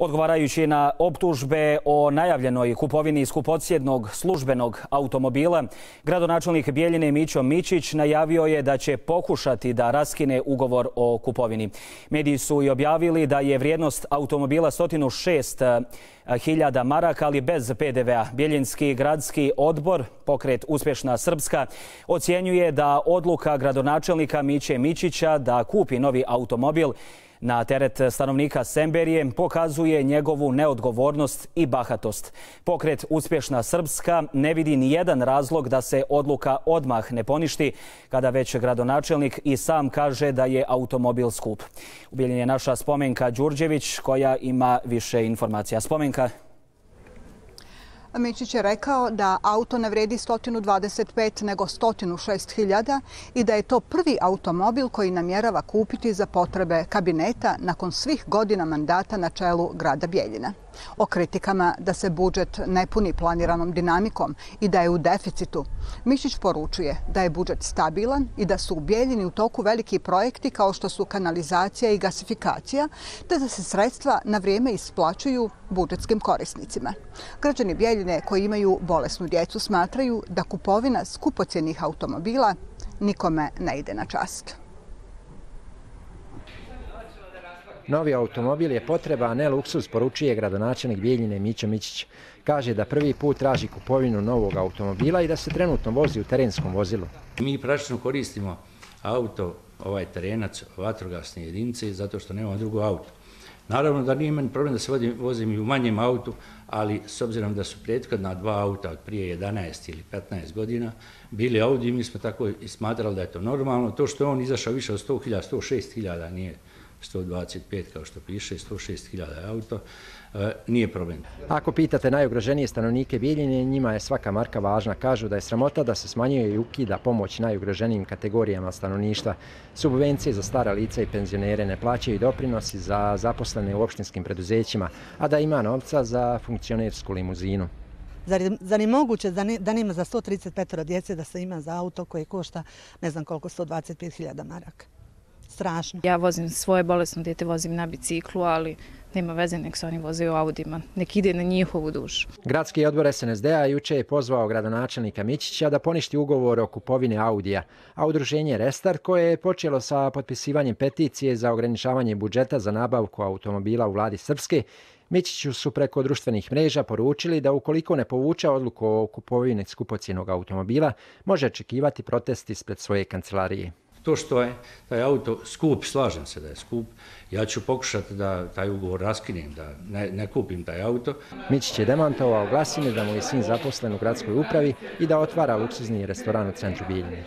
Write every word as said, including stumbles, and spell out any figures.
Odgovarajući na optužbe o najavljenoj kupovini skupocjednog službenog automobila, gradonačelnik Bjeljine Mićo Mićić najavio je da će pokušati da raskine ugovor o kupovini. Mediji su i objavili da je vrijednost automobila sto šest hiljada maraka, ali bez pe de ve a. Bjeljinski gradski odbor, pokret Uspješna Srpska, ocjenjuje da odluka gradonačelnika Miće Mićića da kupi novi automobil na teret stanovnika Semberije pokazuje njegovu neodgovornost i bahatost. Pokret Uspješna Srpska ne vidi ni jedan razlog da se odluka odmah ne poništi, kada već gradonačelnik i sam kaže da je automobil skup. U Bjeljini je naša Spomenka Đurđević koja ima više informacija. Spomenka. Mićić je rekao da auto ne vredi sto dvadeset pet nego sto šest hiljada i da je to prvi automobil koji namjerava kupiti za potrebe kabineta nakon svih godina mandata na čelu grada Bjeljine. O kritikama da se budžet ne puni planiranom dinamikom i da je u deficitu, Mićić poručuje da je budžet stabilan i da su u Bjeljini u toku veliki projekti kao što su kanalizacija i gasifikacija, te da se sredstva na vrijeme isplaćuju budžetskim korisnicima. Građani Bjeljine koji imaju bolesnu djecu smatraju da kupovina skupocjenih automobila nikome ne ide na čast. Novi automobil je potreba, a ne luksuz, poručuje gradonačelnik Bjeljine Mićo Mićić. Kaže da prvi put traži kupovinu novog automobila i da se trenutno vozi u terenskom vozilu. Mi praktično koristimo auto, ovaj terenac, vatrogasne jedinice, zato što nemamo drugo auto. Naravno da nije meni problem da se vozim i u manjem autu, ali s obzirom da su prethodna dva auta od prije jedanaest ili petnaest godina bili Audi, mi smo tako i smatrali da je to normalno. To što je on izašao više od sto hiljada, sto šest hiljada, nije sto dvadeset pet kao što piše, sto šest hiljada auto, nije problem. Ako pitate najugroženije stanovnike Bjeljine, njima je svaka marka važna. Kažu da je sramota da se smanjuje i ukida pomoć najugroženijim kategorijama stanovništva. Subvencije za stara lica i penzionere, ne plaćaju doprinosi za zaposlene u opštinskim preduzećima, a da ima novca za funkcionersku limuzinu. Zar je moguće da nema za sto trideset pet djece da se ima za auto koji košta ne znam koliko, sto dvadeset pet hiljada maraka? Strašno. Ja vozim svoje bolesno dijete, vozim na biciklu, ali nema veze, nek se oni voze u Audima, nek ide na njihovu dušu. Gradski odbor es en es de a juče je pozvao gradonačelnika Mićića da poništi ugovor o kupovini Audija, a udruženje Restart, koje je počelo sa potpisivanjem peticije za ograničavanje budžeta za nabavku automobila u vladi Srpske, Mićiću su preko društvenih mreža poručili da ukoliko ne povuče odluku o kupovini skupocjenog automobila, može očekivati protest ispred svoje kancelarije. To što je taj auto skup, slažem se da je skup, ja ću pokušati da taj ugovor raskinem, da ne, ne kupim taj auto. Mićić je demantovao glasine da mu je sin zaposlen u gradskoj upravi i da otvara luksuzni restoran u centru Bjeljine.